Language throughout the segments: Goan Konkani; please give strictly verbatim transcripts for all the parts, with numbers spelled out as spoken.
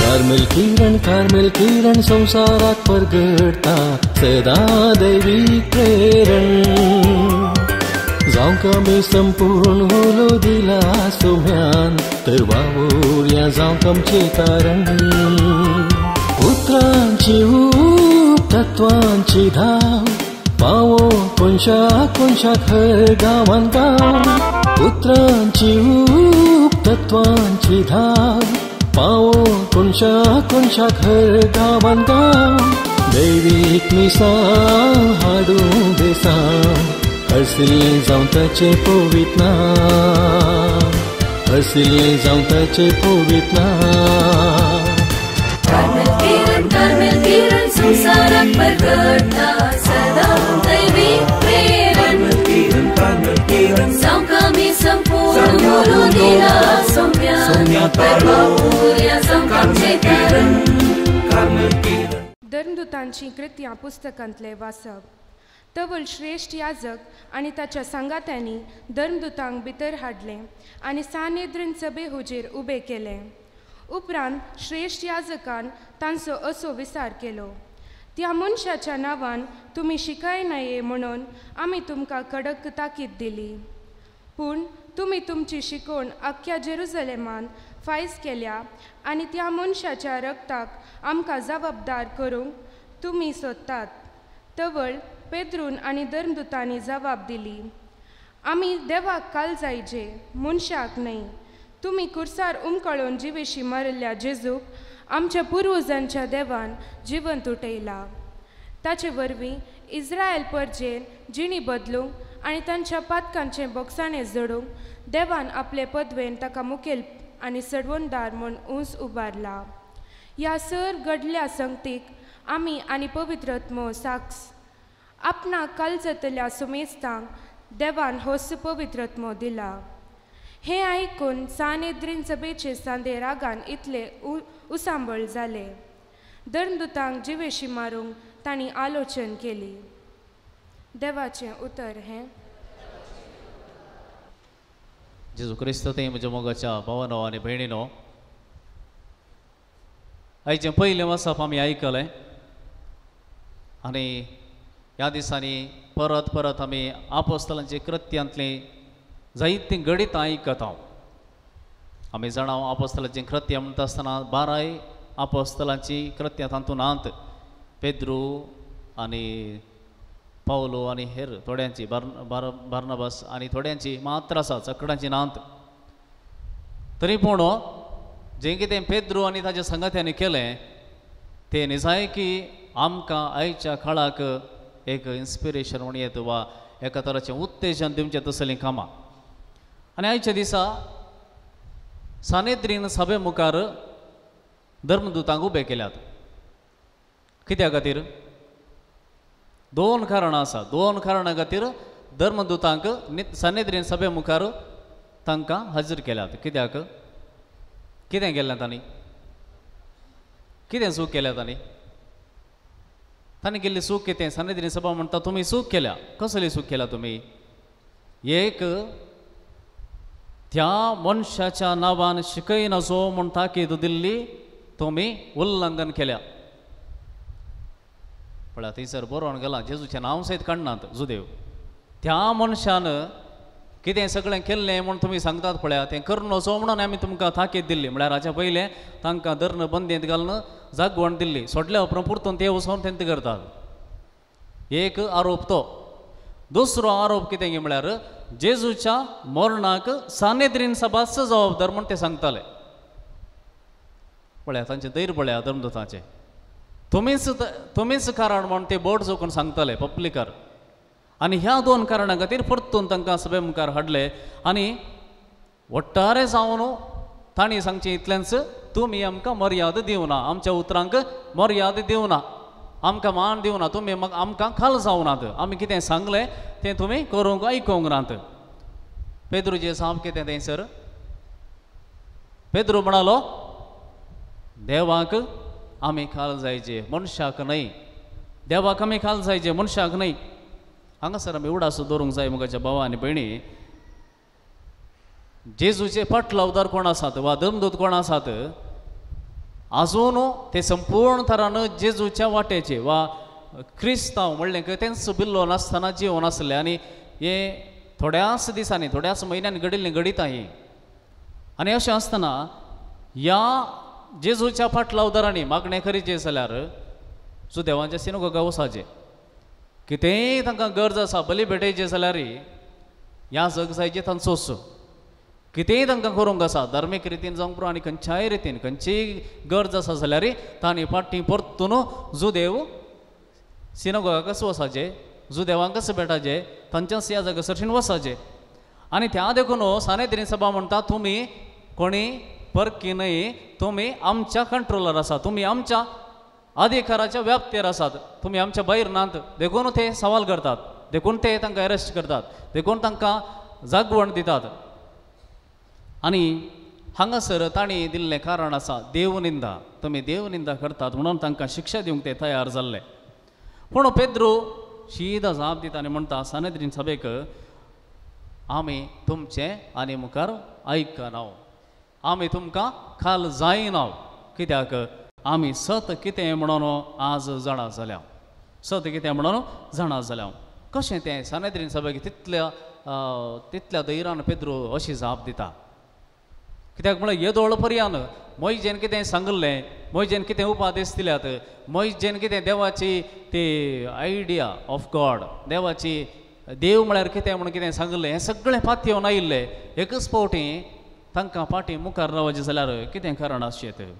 कार्मेल किरण कार्मेल किरण संसाराक परगडटा सदां दैवी प्रेरण जावंक आमी संपूर्ण उलो दिला सोम्यान तर वावुरया जावंक आमचें तारण उतरांची ऊब तत्वांची धाव पावो कोनशा कोनशाक हर गांवान गांव उतरांची ऊब तत्वांची धाव पावो कोनशा कोनशाक हर गांवान गांव दैवीक मिसां हाडूं देसां हरसिल्लें जावं ताचें पवित्र नांव हरसिल्लें जावं ताचें पवित्र नांव. कार्मेल किरण कार्मेल किरण संसाराक परगडटा सदां दैवीक प्रेरण जावंक आमी संपूर्ण उलो दिला सोम्यान तर वावुरया जावंक आमचें तारण. धर्मदूतांची कृत्यां पुस्तकांतलें वाचप. तवल श्रेश्ठ याजक आनी ताच्या सांगात्यांनी धर्मदूतांक भितर हाडलें आनी सानेद्रीन सभे हुजीर उबे केले. उपरांत श्रेश्ठ याजकान तांचो असो विचार केलो, त्या मनशाच्या नांवान तुमी शिकाय नये म्हणून आमी तुमकां कडक ताकीद दिली, पूण तुमी तुमची शिकवण आख्ख्या जेरुजलेमान फायज केल्या आनी त्या मनशाच्या रक्ताक आमकां जबाबदार करूंक तुमी सोदतात. तवळ पेद्रून आनी धर्मदूतांनी जबाब दिली, आमी देवाक काल जायजे, मनशाक न्हय. तुमी कुर्सार उमकळून जिवेशी मारिल्ल्या जेजूक आमच्या पुर्वजांच्या देवान जिवंत उठयला. ताचे वरवीं इस्रायल परजेन जिणी बदलूंक आनी तांच्या पातकांचें बोगसाणें जडूंक देवान आपले पदवेन ताका मुखेल आनी सडवणदार म्हूण ऊंच उबारला. ह्या सर घडल्या संगतीक आमी आनी पवित्र आत्मो साक्ष. आपणाक काल जातल्या सुमेस्तांक देवान होस पवित्र आत्मो दिला. हें आयकून सानेद्रीन सभेचे सांदे रागान इतले उसांबळ जाले. धर्मदूतांक जिवेशी मारूंक तांणी आलोचन केली. देवाचें उतर हें. जेजू क्रिस्त ते म्हज्या मोगाच्या भावानो आनी भयणीनो, आयचें पयलें वाचप आमी आयकलें आनी ह्या दिसांनी परत परत आमी आपोस्तलांचे कृत्यांतलीं जायतीं घडितां आयकता. आमी जाणा आपोस्तलांचीं कृत्यां म्हणटा आसतना बाराय आपोस्तलांचीं कृत्यां तातूंत नात. पेद्रू आनी पावलो आनी हेर थोड्यांची बार बार बार्नाबास आनी थोड्यांची मात्र आसा, चकडांची नात. तरी पूण जें कितें पेद्रू आनी ताच्या संगात्यांनी केलें तें निजाय की आमकां आयच्या काळाक एक इन्स्पिरेशन म्हण येता वा एका तराचें उत्तेजन दिवचें तसलीं कामां. आनी आयच्या दिसा सानेद्रीन सभे मुखार धर्मदूतांक उबे केल्यात. कित्या खातीर? दोन कारणां आसा. दोन कारणां खातीर धर्मदूतांक सानेद्रीन सभे मुखार तांकां हाजीर केल्यात. कित्याक? कितें केल्लें तांणी? कितें चूक केल्या तांणी? तांणी केल्ली चूक कितें? सानेद्रीन सभा म्हणटा तुमी चूक केल्या. कसली चूक केल्या तुमी? एक, त्या मनशाच्या नांवान शिकयनासो म्हूण ताकीद दिल्ली तुमी उल्लंघन केल्या. पळया थंयसर बरोवन गेलां, जेजूचें नांव सयत काडनात जुदेव. त्या मनशान कितें सगळें केल्लें म्हूण तुमी सांगतात पळया, तें करून वचो म्हणून आमी तुमकां ताकीद दिल्ली. म्हळ्यार हाच्या पयलें तांकां धरून बंदेंत घालून जागवण दिल्ली, सोडल्या उपरांत परतून ते वचोन तेंत करतात. एक आरोप तो. दुसरो आरोप कितें की म्हळ्यार जेजूच्या मरणाक सानेद्रीन सभाच जबाबदार म्हूण ते सांगताले. पळया तांचें धैर्य पळया धर्मदूतांचें. तुमीच तुमीच कारण म्हूण ते बोट जोखून सांगताले पब्लिकार. आनी ह्या दोन कारणां खातीर परतून तांकां सभे मुखार हाडले आनी वट्टारे जावन तांणी सांगचें इतलेंच, तुमी आमकां मर्याद दिवना, आमच्या उतरांक मर्याद दिवना, आमकां मान दिवना, तुमी आमकां खाल जावनात, आमी कितें सांगलें तें तुमी करूंक आयकूंक नात. पेद्रूचें जाप कितें थंयसर? पेद्रू म्हणालो देवाक आमी खाल जायचे, मनशाक न्हय. देवाक आमी खाल जायचे, मनशाक न्हय. हांगासर आमी उडास दवरूंक जाय मुखाच्या भावा आनी भयणी, जेजूचे फाटलावदार कोण आसात वा धर्मदूत कोण आसात, आजून ते संपूर्ण थरान जेजूच्या वाटेचे वा क्रिस्तांव म्हणलें तेंच बिल्लो नासतना जिवन आसलें. आनी हे थोड्याच दिसांनी थोड्याच म्हयन्यांनी घडिल्लीं घडितां हीं. आनी अशें आसतना ह्या जेजूच्या फाटलावदारांनी मागणें करीचें जाल्यार सुदेवांच्या सिनगोगा वचाचें, कितेंय तांकां गरज आसा बली भेटयचें जाल्यार ह्या जग जायचें तांचोच, कितेंय तांकां करूंक आसा धार्मीक रितीन जावंक पुरो आनी खंयच्याय रितीन खंयचीय गरज आसा जाल्यार तांणी फाटीं परतून जुदेव सिनगोगाकच वचाचें, जुदेवांकच भेटाचें, तांच्याच ह्या जाग्या सरशीन वचाचें. आनी त्या देखून सानेद्रीन सभा म्हणटा तुमी कोणी परकी न्हय, तुमी आमच्या कंट्रोलार आसा, तुमी आमच्या अधिकाराच्या व्याप्तेर आसात, तुमी आमच्या भायर नात. देखून ते सवाल करतात, देखून ते तांकां अरेस्ट करतात, देखून तांकां जागवण दितात. आनी हांगासर तांणी दिल्लें कारण आसा देवनिंदा, तुमी देवनिंदा करतात म्हणून तांकां शिक्षा दिवंक ते तयार जाल्ले. पूण पेद्रू शीदा जाप दिता आनी म्हणटा सानेद्रीन सभेक, आमी तुमचें आनी मुखार आयकना, आमी तुमकां खाल जायना, कित्याक आमी सत कितें म्हणून आज जाणा जाल्या, सत कितें म्हणून जाणा जाल्या. कशें तें सानेद्रीन सभेक तितल्या तितल्या धैर्यान पेद्रू अशी जाप दिता? कित्याक म्हळ्यार येदोळ पर्यान मोयजेन कितें सांगलें, मोयजेन कितें उपादेश दिल्यात, मोयजेन कितें देवाची ती आयडिया ऑफ गॉड, देवाची देव म्हळ्यार कितें म्हणून कितें सांगलें, हें सगळें पातयेवन आयिल्लें. एकच फावटी तांकां फाटीं मुखार रावचें जाल्यार कितें कारण आसचें?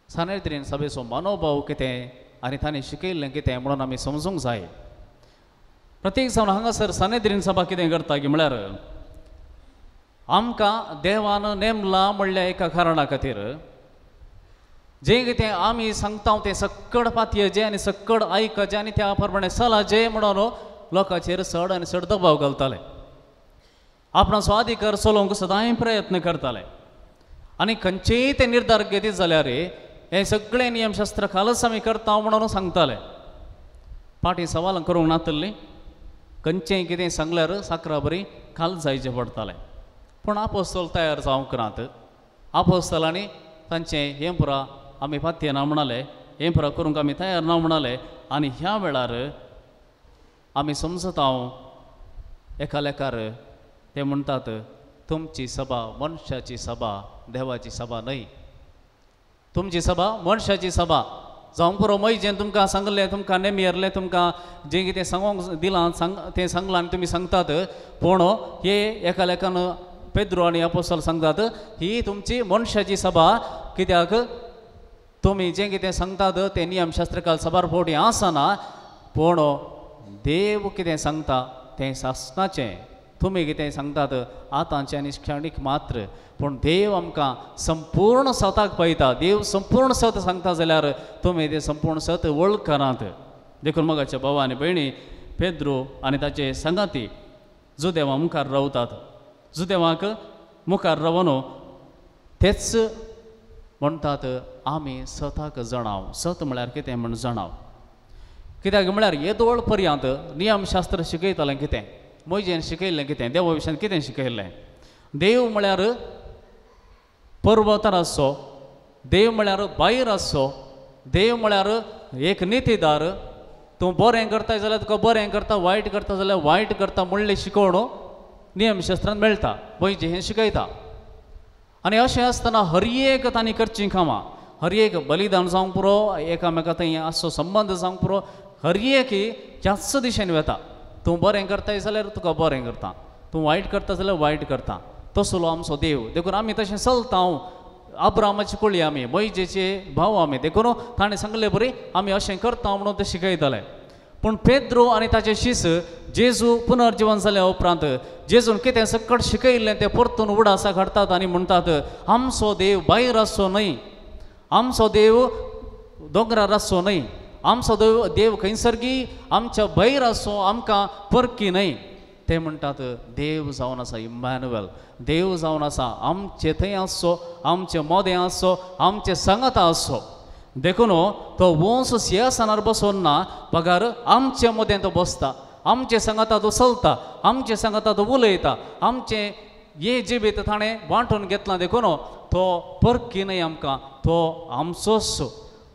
सानेद्रीन सभेचो मनोभाव कितें आनी तांणी शिकयल्लें कितें म्हणून आमी समजूंक जाय. प्रत्येक जावन हांगासर सानेद्रीन सभा कितें करता की म्हळ्यार आमकां देवान नेमला म्हणल्या एका कारणा खातीर जें कितें आमी सांगता तें सक्कड पातयेचें आनी सक्कड आयकचें आनी त्या प्रमाणे चलाचें म्हणून लोकांचेर चड आनी चड दबाव घालताले, आपणाचो अधिकार चलोवंक सदांय प्रयत्न करताले. आनी खंयचेय ते निर्धार घेतीत जाल्यार हे सगळे नियमशास्त्र खालच आमी करता म्हणून सांगताले. फाटीं सवालां करूंक नातल्लीं, खंयचेंय कितें सांगल्यार साकरा बरी खाल जायचें पडटालें. पूण आपोस्तल तयार जावंक नात. आपोस्तलांनी तांचें हें पुरा आमी पातयेना म्हणाले, हें पुरा करूंक आमी तयार ना म्हणाले. आनी ह्या वेळार आमी समजता एका लेखार ते म्हणटात तुमची सभा मनशाची सभा, देवाची सभा न्हय. तुमची सभा मनशाची सभा जावंक पुरो. मोयजेन तुमकां सांगलें, तुमकां नेमियरलें, तुमकां जें कितें सांगूंक दिलां सांग तें सांगलां आनी तुमी सांगतात. पूण हे एका लेखान पेद्रू आनी आपोस्तल सांगतात ही तुमची मनशाची सभा, कित्याक तुमी जें कितें सांगतात तें नियमशास्त्रकाल सभार फावटी आसना, पूण देव कितें सांगता तें सासणाचें. तुमी कितें सांगतात आतांचें आनी क्षणीक मात्र, पूण देव आमकां संपूर्ण सताक पळयता. देव संपूर्ण सत सांगता जाल्यार तुमी तें संपूर्ण सत वळखनात. देखून मोगाच्या भाव आनी भयणी, पेद्रू आनी ताचे सांगाती जुदेवा मुखार रावतात. जुदेवाक मुखार रावन तेच म्हणटात आमी सताक जाणाव. सत म्हळ्यार कितें म्हण जाणाव. कित्याक म्हळ्यार येदोळ पर्यंत नियमशास्त्र शिकयतालें कितें, मोयजेन शिकयल्लें कितें, देवा विशयान कितें शिकयल्लें. देव म्हळ्यार पर्वतार आसचो, देव म्हळ्यार भायर आसचो, देव म्हळ्यार एक नितीदार. तूं बरें करता जाल्यार तुका बरें करता, वायट करता जाल्यार वायट करता म्हणलें शिकोवण नियमशास्त्रान मेळटा, मोयजे हें शिकयता. आनी अशें आसतना हर एक तांणी करचीं कामां, हर एक बलिदान जावंक पुरो, एकामेका थंय आसचो संबंद जावंक पुरो, हर एक ह्याच दिशेन वता. तूं बरें करताय जाल्यार तुका बरें करता, तूं वायट करता जाल्यार वायट करता. तसलो आमचो देव. देखून आमी तशें चलता अब्रामाची कुळी आमी, मोयजेचे भाव आमी, देखून ताणें सांगले बरी आमी अशें करता म्हणून ते शिकयताले. पूण पेद्रो आनी ताचे शीस जेजू पुनर्जिवन जाल्या उपरांत जेजून कितें सकट शिकयल्लें तें परतून उडासाक हाडटात आनी म्हणटात आमचो देव भायर आसचो न्हय, आमचो देव दोंगरार आसचो न्हय, आमचो देव देव खंयसरगी आमच्या भायर आसचो, आमकां परकी न्हय. ते म्हणटात देव जावन आसा इम्मॅन्युएल, देव जावन आसा आमचे थंय आसचो, आमचे मोदें आसचो, आमचे सांगाता आसचो. देखून तो वंस सिंहासनार बसोन ना बगर आमचे मदें तो बसता, आमचे सांगाता तो चलता, आमचे सांगाता तो उलयता, आमचें हें जिवीत ताणें वांटून घेतलां. देखून तो परकी न्हय आमकां, तो आमचोच,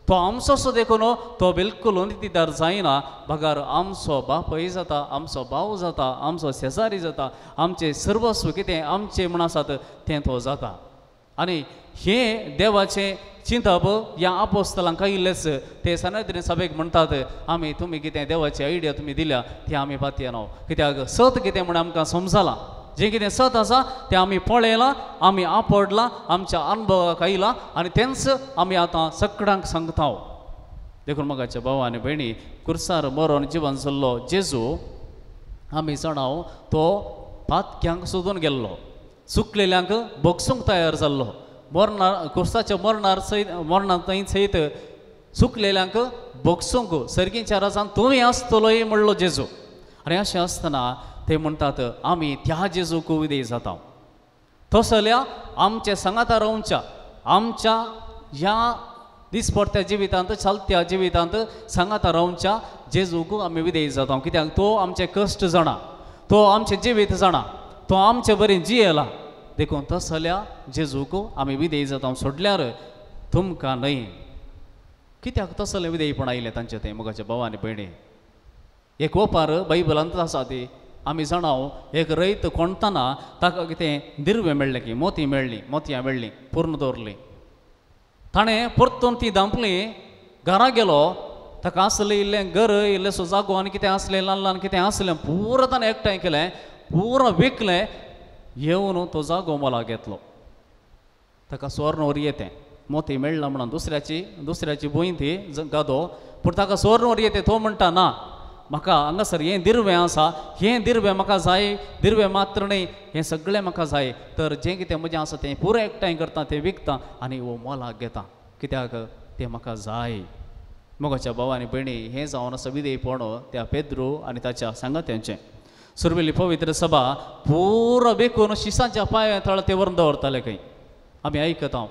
तो आमचोच. देखून तो बिलकुल नितीदार जायना बगर आमचो बापूय जाता, आमचो भाव जाता, आमचो शेजारी जाता, आमचें सर्वस्व कितें आमचें म्हण आसात तें तो जाता. आनी हें देवाचें चिंतप ह्या आपोस्तलांक आयिल्लेंच. ते सनातनी सभेक म्हणटात आमी तुमी कितें देवाची आयडिया तुमी दिल्या ती आमी पातयेना, कित्याक सत कितें म्हण आमकां समजलां, जें कितें सत आसा तें आमी पळयलां, आमी आपडलां, आमच्या अनुभवाक आयलां आनी तेंच आमी आतां सगळ्यांक सांगता. देखून मोगाच्या भाव आनी भयणी, कुर्सार मरोन जिवन जाल्लो जेजू आमी जाणाव तो पातक्यांक सोदून गेल्लो, चुकलेल्यांक भोगसूंक तयार जाल्लो, मरणार कुर्साच्या मरणार सयत मरणा थंय सयत चुकलेल्यांक भोगसूंक सर्गीच्या राजान तुवें आसतलोय म्हणलो जेजू. आनी अशें आसतना ते म्हणटात आमी त्या जेजूक विधेय जाता, तसल्या आमच्या सांगाता रावच्या, आमच्या ह्या दिसपडत्या जिवितांत चलत्या जिवितांत सांगाता रावच्या जेजूक आमी विधेय जाता. कित्याक तो आमचे कश्ट जाणा, तो आमचें जिवीत जाणा, तो आमचे बरें जियेला. देखून तसल्या जेजूक आमी विधेय जाता सोडल्यार तुमकां न्हय. कित्याक तसलें विधेयपण आयलें तांचें तें मोगाच्या भाव आनी भयणी? एक ओपार बायबलांत आसा ती आमी जाणाव, एक रयत कोणतना ताका कितें दिर्वें मेळ्ळें की मोती मेळ्ळी, मोतयां मेळ्ळीं, पूर्ण दवरलीं, ताणें परतून ती धांपली, घरा गेलो, ताका आसलें इल्लें घर, इल्लेसो जागो आनी कितें आसलें ल्हान ल्हान कितें आसलें पुरो ताणें एकठांय केलें, पुरो विकलें, येवन तो जागो मोलाक घेतलो. ताका सुवर्ण वरी येतें मोती मेळ्ळा म्हणून दुसऱ्याची दुसऱ्याची भूंय ती गादो, पूण ताका सुवर्ण वरी येतें. तो म्हणटा ना म्हाका हांगासर हें दिर्वें आसा, हें दिर्वें म्हाका जाय, दिर्वें मात्र न्हय हें सगळें म्हाका जाय, तर जें कितें म्हजें आसा तें पुरो एकठांय करता, तें विकता आनी हो मोलाक घेता, कित्याक तें म्हाका जाय. मोगाच्या भाव आनी भयणी, हें जावन आसा विधेयपण त्या पेद्रू आनी ताच्या सांगात्यांचें. सुरवेली पवित्र सभा पुरो बेकून शिसांच्या पांया तळ ते व्हरून दवरताले खंय आमी आयकता.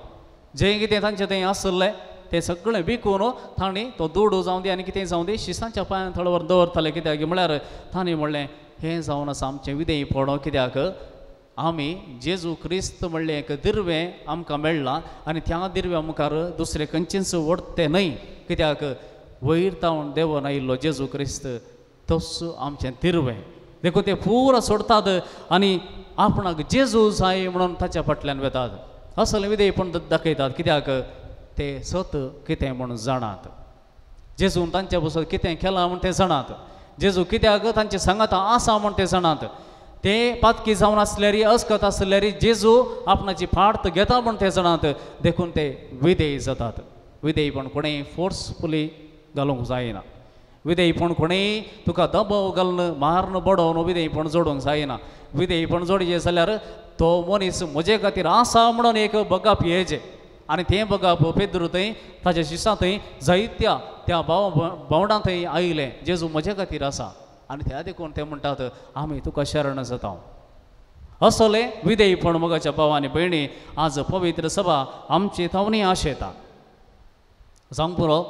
जें कितें तांचें थंय आसलें तें सगळें विकून तांणी तो दुडू जावं दी आनी कितें जावं दी शिसांच्या पांया थळ व्हरून दवरताले. कित्याक म्हळ्यार तांणी म्हणलें हें जावन आसा आमचें विधेयपण, कित्याक आमी जेजू क्रिस्त म्हणलें एक दिर्वें आमकां मेळ्ळां आनी त्या दिर्व्या मुखार दुसरें खंयचेंच वडतें न्हय, कित्याक वयर तावन देवून आयिल्लो जेजू क्रिस्त तोच आमचें दिर्वें. देखून ते पुरो सोडटात आनी आपणाक जेजू जाय म्हणून ताच्या फाटल्यान वेतात, असलें विधेयपण दाखयतात, कित्याक ते सत कितें म्हूण जाणात, जेजून तांच्या बसत कितें केलां म्हूण ते जाणात, जेजू कित्याक तांचे सांगाता आसा म्हूण ते जाणात, ते पातकी जावन आसल्यारी अस्कत आसल्यारी जेजू आपणाची फाट घेता म्हूण ते जाणात. देखून ते विधेय जातात. विधेयपण कोणेय फोर्सफुली घालूंक जायना, विधेयपण कोणेय तुका दबाव घालून मारून बडोवन विधेयपण जोडूंक जायना. विधेयपण जोडचें जाल्यार तो मनीस म्हजे खातीर आसा म्हणून एक बगाप येचें, आनी तें बगाप पेद्रू थंय ताच्या शिसां थंय जायत्या त्या भाव भावंडां थंय आयलें, जेजू म्हजे खातीर आसा, आनी त्या देखून ते म्हणटात आमी तुका शरण जाता. असलें विधेयपण मोगाच्या भाव आनी भयणी आज पवित्र सभा आमची थावनी आशेता. जावंक पुरो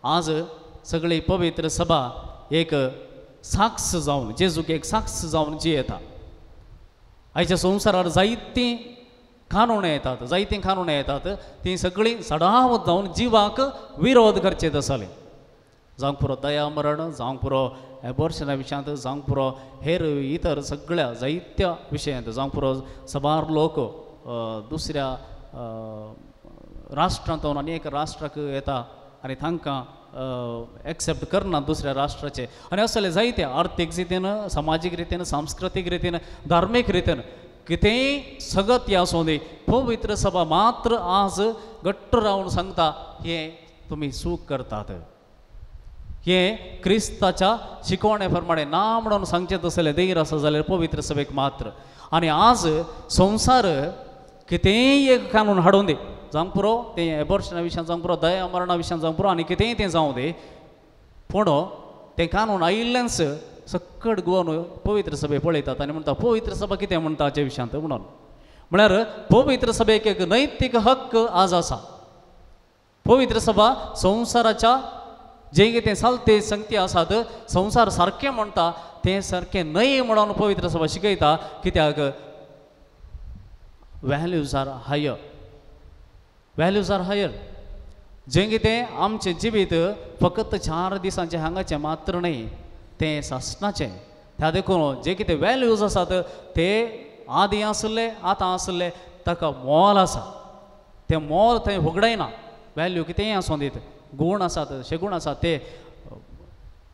आज सगळी पवित्र सभा एक साक्ष जावन जेजूक एक साक्ष जावन जियेता. आयच्या संवसारार जायतीं कानून येतात, जायतीं कानून येतात, तीं सगळीं सडावत जावन जिवाक विरोध करचे तसले. जावंक पुरो दया मरण, जावंक पुरो एबॉर्शना विशयांत, जावंक पुरो हेर इतर सगळ्या जायत्या विशयांत, जावंक पुरो साबार लोक दुसऱ्या राष्ट्रांत आनी एक राष्ट्राक येता आनी तांकां एक्सेप्ट करना दुसऱ्या राष्ट्राचे, आनी असले जायते आर्थीक रितीन, समाजीक रितीन, सांस्कृतीक रितीन, धार्मीक रितीन कितेंय सगत आसूं दी, पवित्र सभा मात्र आज घट्ट रावन सांगता हें तुमी चूक करतात, हें क्रिस्ताच्या शिकवणे प्रमाणे ना म्हणून सांगचें तसलें देर आसा जाल्यार पवित्र सभेक मात्र. आनी आज संवसार कितेंय एक कानून हाडून दी, जावंक पुरो तें एबॉर्शना विशयान जावंक पुरो, दया मरणा विशयान जावंक पुरो, आनी कितेंय तें जावं दी, पूण तें कानून आयिल्लेंच सक्कड गोवन पवित्र सभे पळयतात आनी म्हणटा पवित्र सभा कितें म्हणटा हाचे विशयांत म्हणून. म्हळ्यार पवित्र सभेक एक नैतीक हक्क आज आसा. पवित्र सभा संवसाराच्या जें कितें चालते संगती आसात, संवसार सारकें म्हणटा तें सारकें न्हय म्हणून पवित्र सभा शिकयता. कित्याक values are higher, values are higher. जें कितें आमचें जिवीत फकत चार दिसांचें हांगाचें मात्र न्हय, तें सासणाचें. त्या देखून जे कितें वॅल्यूज आसात ते आदीं आसले आतां आसले ताका मोल आसा, तें मोल थंय होगडायना. वॅल्यू कितेंय आसूं दीत, गूण आसात, शेगूण आसात, ते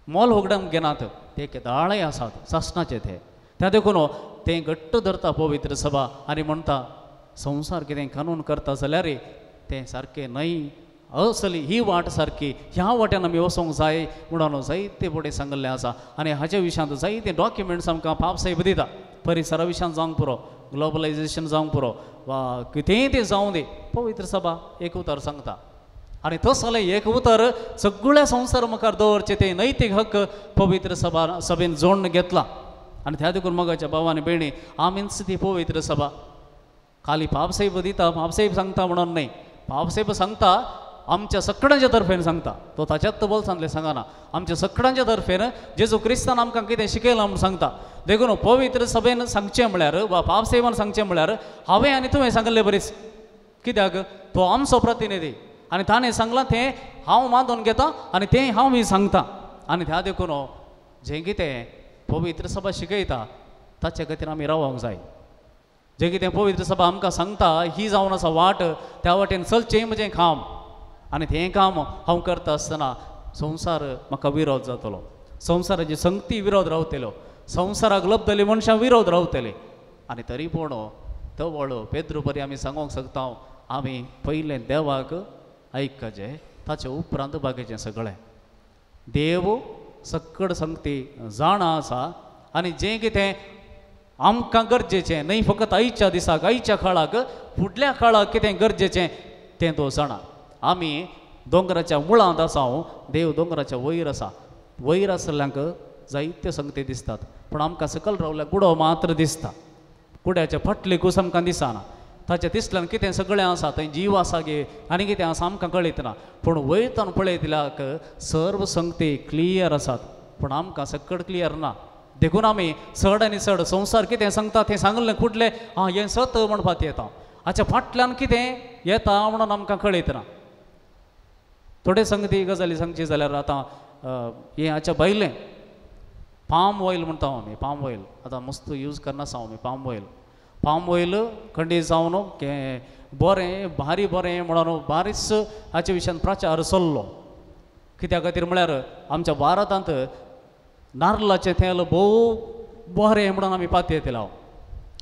मोल होगडावंक घेनात, ते केदाळय आसात सासणाचे ते. त्या देखून तें घट्ट धरता पवित्र सभा आनी म्हणटा संवसार कितें कानून करता जाल्यार तें सारकें न्हय, असली ही वाट सारकी, ह्या वाट्यान आमी वचोंक जाय म्हणून जायते फुडें सांगिल्लें आसा. आनी हाच्या विशयांत जायते डॉक्युमेंट्स आमकां पापसाहेब दिता. परिसरा विशयांत जावंक पुरो, ग्लोबलायजेशन जावंक पुरो, वा कितेंय तें जावं दी, पवित्र सभा एक उतर सांगता. आनी तसलें एक उतर सगळ्या संवसार मुखार दवरचें तें नैतीक हक्क पवित्र सभा सभेन जोडून घेतला. आनी त्या देखून मोगाच्या भाव आनी भयणी, आमीच ती पवित्र सभा. खाली पापसाहेब दिता, पापसाहेब सांगता म्हणून न्हय, पापसाहेब सांगता आमच्या सगळ्यांच्या तर्फेन सांगता, तो ताच्यात बोल्सांतलें सांगना, आमच्या सगळ्यांच्या तर्फेन जेजू क्रिस्तान आमकां कितें शिकयलां म्हूण सांगता. देखून पवित्र सभेन सांगचें म्हळ्यार वा पापसाहेबान सांगचें म्हळ्यार हांवें आनी तुवें सांगिल्लें बरीच, कित्याक तो आमचो प्रतिनिधी आनी ताणें सांगलां तें हांव मानून घेता आनी तें हांव बी सांगता. आनी त्या देखून जें कितें पवित्र सभा शिकयता ताचे खातीर आमी रावोंक जाय. जें कितें पवित्र सभा आमकां सांगता ही जावन आसा वाट, त्या वाटेन चलचें म्हजें काम, आनी तें काम हांव करता आसतना संवसार म्हाका विरोध जातलो, संवसाराची संगती विरोध रावतलो, संवसाराक लभतली मनशां विरोध रावतले. आनी तरी पूण तवळ पेद्रू बरी आमी सांगूंक शकता, आमी पयलें देवाक आयकचें, ताचे उपरांत बाकीचें सगळें. देव सक्कड संगती जाणा आसा आनी जें कितें आमकां गरजेचें न्हय फकत आयच्या दिसाक, आयच्या काळाक, फुडल्या काळाक कितें गरजेचें तें तो जाणा. आमी दोंगराच्या मुळांत आसा, देव दोंगराच्या वयर आसा. वयर आसल्ल्यांक जायत्यो संगती दिसतात, पूण आमकां सकयल रावल्यार गुडो मात्र दिसता, कुड्याच्या फाटली कूस आमकां दिसना. ताच्या दिसल्यान कितें सगळें आसा, थंय जीव आसा गे आनी कितें आसा आमकां कळयतना, पूण वयतान पळयतल्याक सर्व संगती क्लियर आसात, पूण आमकां सकड क्लियर ना. देखून आमी चड आनी चड संवसार कितें सांगता तें सांगलें कुडलें आं हें सत म्हणपाक येता, हाच्या फाटल्यान कितें येता म्हणून आमकां कळयतना. थोडे संगती गजाली सांगची जाल्यार आतां हें हाच्या भायलें पाम ऑयल म्हणटा आमी, पाम ऑयल आतां मस्त यूज करना आमी. पाम ऑयल, पाम ऑयल खंडीत जावन बरें भारी बरें म्हणून बारीच हाचे विशयान प्रचार चल्लो. कित्या खातीर म्हळ्यार आमच्या भारतांत नारलाचें तेल भोव बरें म्हणून आमी पातयेतले,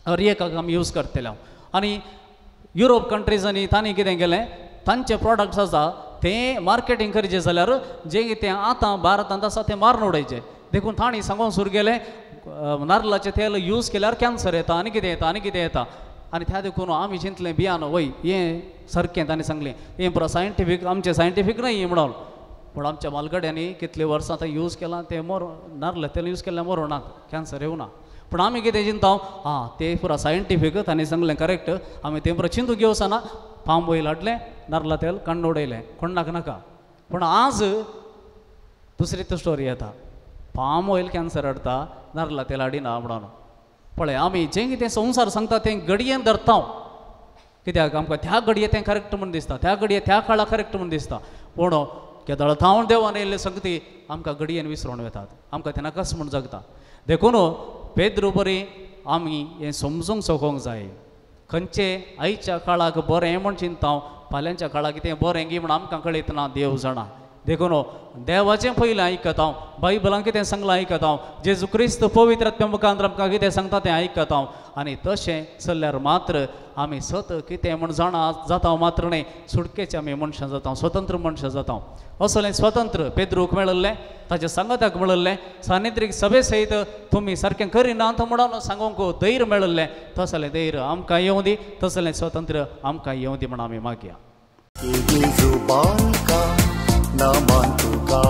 हर एकाक आमी यूज करतले. आनी युरोप कंट्रीजांनी तांणी कितें केलें, तांचे प्रोडक्ट्स आसा तें मार्केटींग करचें जाल्यार जें कितें आतां भारतांत आसा तें मारून उडयचें. देखून तांणी सांगून सुरू केलें नारलाचें तेल यूज केल्यार कॅन्सर येता आनी कितें येता आनी कितें येता. आनी त्या देखून आमी चिंतलें बियान वय हें सारकें तांणी सांगलें, हें पुरो सायंटिफीक, आमचें सायंटिफीक न्हय म्हणून. पूण आमच्या मालगड्यांनी कितले वर्सां आतां यूज केलां तें मोर नारला तेल यूज केल्यार मरोना, कॅन्सर येवना. पूण आमी कितें चिंता आं तें पुरो सायंटिफीक तांणी सांगलें करेक्ट, आमी तें पुरो चिंतूंक घेवचना. पाम ऑयल हाडलें, नारला तेल काण्ण उडयलें, कोण्णाक नाका. पूण आज दुसरी तो स्टोरी येता, पाम ऑयल कॅन्सर हाडटा, नारला तेल हाडिना म्हणून. पळय आमी जें कितें संवसार सांगता तें घडयेन धरता, कित्याक आमकां त्या घडये तें करेक्ट म्हूण दिसता, त्या घडये त्या काळा करेक्ट म्हूण दिसता. पूण केदळ थावन देवान येयल्ले संगती आमकां घडयेन विसरून वतात, आमकां तें नाकाच म्हूण जगता. देखून पेद्रू बरी आमी हें समजूंक सकोंक जाय, खंयचे आयच्या काळाक बरें म्हूण चिंता, फाल्यांच्या काळाक कितें बरें गी म्हूण आमकां कळयतना देव जाणा. देखून देवाचें पयलें आयकता हांव, बायबलान कितें सांगलां आयकता हांव, जेजू क्रिस्त पवित्र आत्म्या मुखांत आमकां कितें सांगता तें आयकता हांव. आनी तशें चल्ल्यार मात्र आमी सत कितें म्हूण जाणा जाता मात्र न्हय, सुटकेचे आमी मनशां जाता, स्वतंत्र मनशां जाता. असलें स्वतंत्र पेद्रूक मेळिल्लें, ताच्या सांगाताक मेळिल्लें, सानिद्रीक सभे सयत तुमी सारकें करिनात म्हणून सांगूंक धैर्य मेळिल्लें. तसलें धैर्य आमकां येवं दी, तसलें स्वतंत्र आमकां येवं दी म्हण आमी मागया. नमन तुका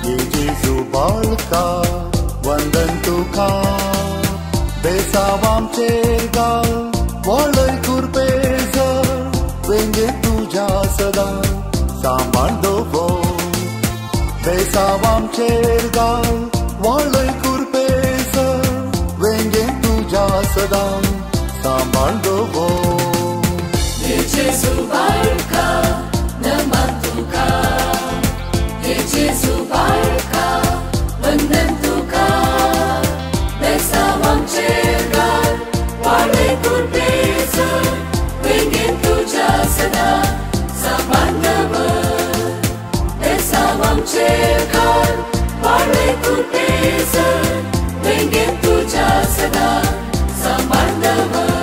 ये जेजू बाळका, वंदन तुका, बेसावामचेर गाल वळय कुरपेज, वेंगे तुज्या सदां सांबाळ दवर. बेसावामचेर गाल वळय कुरपेज, वेंगे तुज्या सदां सांबाळ दवर. जेजू बाळका नमन तुका, हे जेजू बाळका वंदन तुका, बेसावामचेर गाल वाळय कुरपेज, वेंगेन तुज्या सदां सांबाळ दवर. बेसावामचेर गाल वाळय कुरपेज, वेंगेन तुज्या सदां सांबाळ दवर.